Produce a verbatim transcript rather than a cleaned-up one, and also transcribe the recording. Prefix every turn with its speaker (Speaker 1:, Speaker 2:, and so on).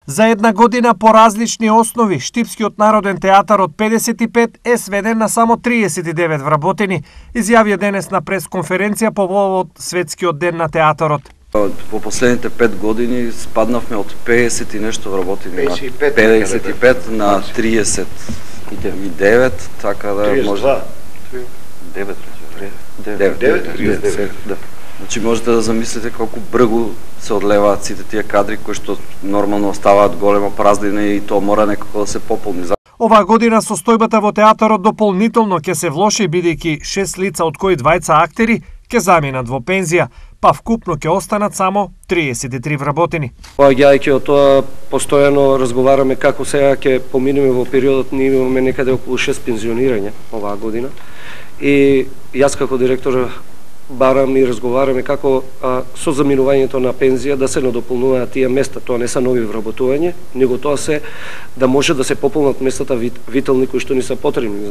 Speaker 1: За една година по различни основи, Штипскиот народен театар од педесет и пет е сведен на само триесет и девет вработени, изјавија денес на пресконференција по повод Светскиот ден на театарот.
Speaker 2: По последните пет години спаднавме од педесет и нешто вработени
Speaker 3: педесет и пет,
Speaker 2: на педесет и пет на триесет и девет, така да може девет девет да. Значи можете да замислите колку бргу се одлеваат сите тие кадри кои што нормално оставаат голема празнина и тоа мора некако да се пополни.
Speaker 1: Оваа година состојбата во театарот дополнително ќе се влоши бидејќи шест лица од кои двајца актери ќе заминат во пензија, па вкупно ќе останат само триесет и три вработени.
Speaker 4: Поаѓајќи од тоа, постојано разговараме како сега ќе поминеме во периодот, ние имаме некаде околу шест пензионирања оваа година. И јас како директор барам и разговараме како а, со заминувањето на пензија да се надополнуваат тие места, тоа не се нови вработување, него тоа се да може да се пополнат местата вителни кои што ни се потребни.